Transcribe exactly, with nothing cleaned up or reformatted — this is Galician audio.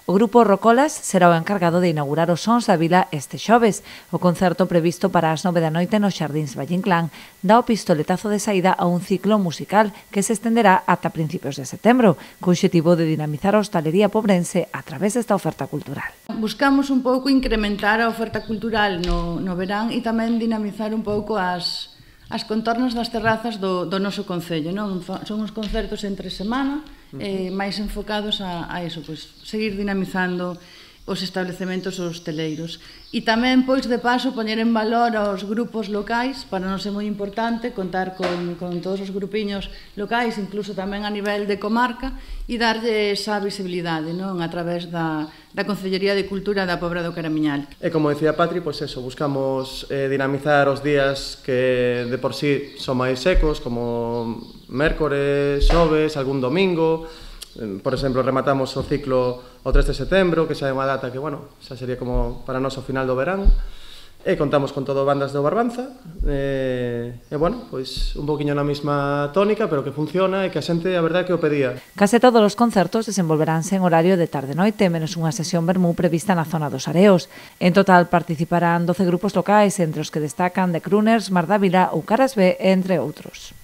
O grupo Rocolas será o encargado de inaugurar os sons da vila este xoves. O concerto previsto para as nove da noite nos Xardíns Valle Inclán dá o pistoletazo de saída a un ciclo musical que se estenderá ata principios de setembro, co obxectivo de dinamizar a hostalería pobrense a través desta oferta cultural. Buscamos un pouco incrementar a oferta cultural no, no verán e tamén dinamizar un pouco as, as contornas das terrazas do, do noso concello. Non? Son uns concertos entre semana, eh, máis enfocados a, a eso, pois, seguir dinamizando os establecementos hosteleiros. E tamén, pois, de paso, poñer en valor aos grupos locais, para nós é moi importante contar con, con todos os grupiños locais, incluso tamén a nivel de comarca, e darlle esa visibilidade, non? A través da, da Concellería de Cultura da Pobra do Caramiñal. E como decía Patri, pois eso, buscamos eh, dinamizar os días que de por sí son máis secos, como mércores, xoves, algún domingo. Por exemplo, rematamos o ciclo o tres de setembro, que xa é unha data que, bueno, xa sería como para nós o final do verán. E contamos con todo bandas do Barbanza. E, e bueno, pois un poquinho na mesma tónica, pero que funciona e que a xente, a verdade, que o pedía. Case todos os concertos desenvolveránse en horario de tarde-noite, menos unha sesión vermú prevista na zona dos Areos. En total participarán doce grupos locais, entre os que destacan The Crooners, Mar Dávila ou Caras B, entre outros.